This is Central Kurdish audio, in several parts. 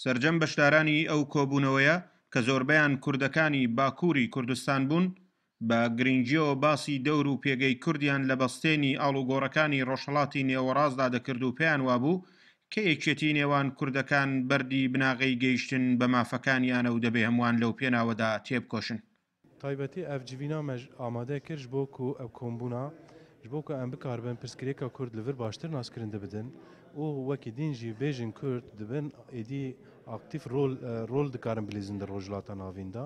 سەرجەم بەشدارانی ئەو کۆبوونەوەیە کە زۆربەیان کوردەکانی باکووری کوردستان بوون، بە گرنگییەوە باسی دەور و پێگەی کوردیان لە بەستێنی ئاڵوگۆڕەکانی ڕۆژهەڵاتی نێوەڕاستدا دەکرد و پێیان وابوو کە یەکێتی نێوان کوردەکان بەردی بناغەی گەیشتن بە مافەکانیانە و دەبێ هەمووان لەو پێناوەدا تێبکۆشن. تایبەتی ئەڤ جڤینا me ئامادە کر ji bo ku ev kombûna ji bo ku em bikaribin pirsgirêka Kurd li vir baştir naskirin dibidin û wekî din jî bêjin Kurd dibin êdî aktîf rol rol dikarin bilîzin di Rojhilata Navîn de.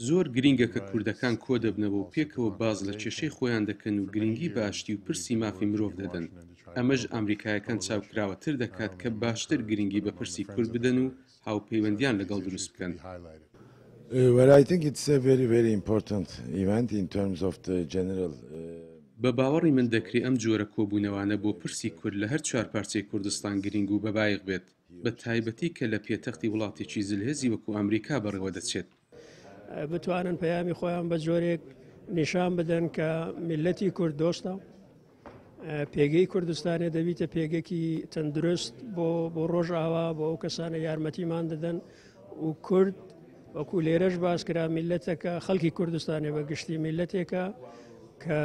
زۆر گرینگە کە کوردەکان کۆدەبنەوە و پێکەوە باس لە کێشەی خۆیان دەکەن و گرینگی بە ئاشتی و پرسی مافی مرۆڤ دەدەن. ئەمەش ئامریکایەکان چاوکراوەتر دەکات کە باشتر گرینگی بە پرسی کورد بدەن و هاوپەیوەندیان لەگەڵ دروست بکەن. بە باوەڕی من دەکرێ ئەم جۆرە کۆبوونەوانە بۆ پرسی کورد لە هەر چوارپارچەی کوردستان گرینگ و بەبایخ بێت، بە تایبەتی کە لە پێتەختی وڵاتێکی زلهێزی وەکوو ئامریکا بەڕێوە دەچێت. بتوانن پەیامی خۆیان بە جۆرێک نیشان بدەن کە میللەتی کورد دۆستە، پێگەی کوردستانێ دەبیتە پێگەکی تەندروست بۆ بۆ ڕۆژئاوا بۆ ئەو کەسانە یارمەتیمان دەدەن و کورد وەکو لێرەش باس کرا میلەتەکە خەڵکی کوردستانێ بە گشتی میلەتێکە کە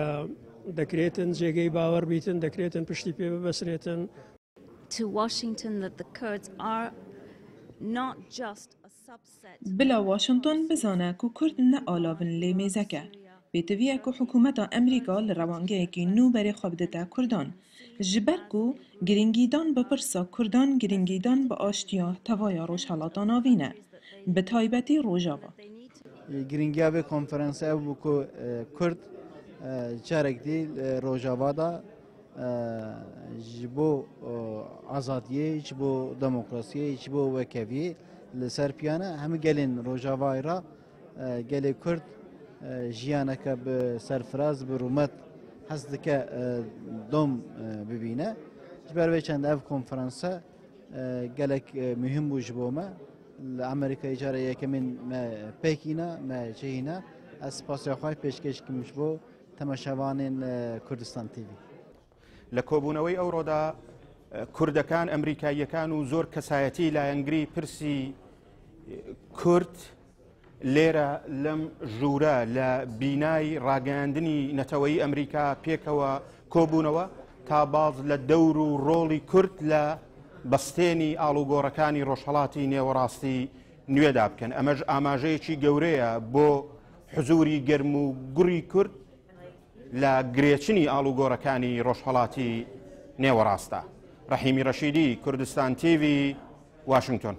دەکرێتن جێگەی باوەڕ بیتن دەکرێتن پشتی پێ ببەسرێتن. To Washington that the Kurds are not just a subset. Bila Washington bizane ku Kurd ne alavin lê mêzek e. Pêdivî ye ku hikûmeta Amerîka li rewangeyekî nû berê xwe bidite Kurdan. Ji ber ku girîngîdan bi pirsa Kurdan girîngîdan bi aştiya tevaya Rojhilata Navîn e. Bi taybetî Rojava. Girîngiya vê konferansê ew bû ku Kurd carek dî li Rojava de Ji bo azadiyê, ji bo demokrasiyê, ji bo wekheviyê li ser piyan e. Hemû gelên Rojavayê re gelê Kurd jiyaneke bi serfiraz, bi rûmet hez dike dom bibîne. Ji ber vê çend ev konferanse gelek muhim bû ji bo me. Li Amerîkayê cara yekemîn me pêk îna, me cihîna. Ez spasiya xwe pêşkêş dikim ji bo تەماشاوانێن کوردستان تیڤی. لە کۆبوونەوەی ئەوڕۆدا کوردەکان، ئەمریکاییەکان و زۆر کەسایەتی لایەنگری پرسی کورد لێرە لەم ژوورە لە بینای ڕاگەیاندنی نەتەوەی ئەمریکا پێکەوە کۆبوونەوە تا باز لە دەور و ڕۆڵی کورد لە بەستێنی ئاڵوگۆڕەکانی ڕۆژهەڵاتی نێوەڕاستی نوێدا بکەن. ئەمەش ئاماژەیەکی گەورەیە بۆ حزوری گەرم و گوڕی کورد لە گرێچنی ئاڵوگۆڕەکانی ڕۆژهەڵاتی نێوەڕاستە. ڕەحیمی ڕەشیدی، کوردستان تیڤی، واشنگتۆن.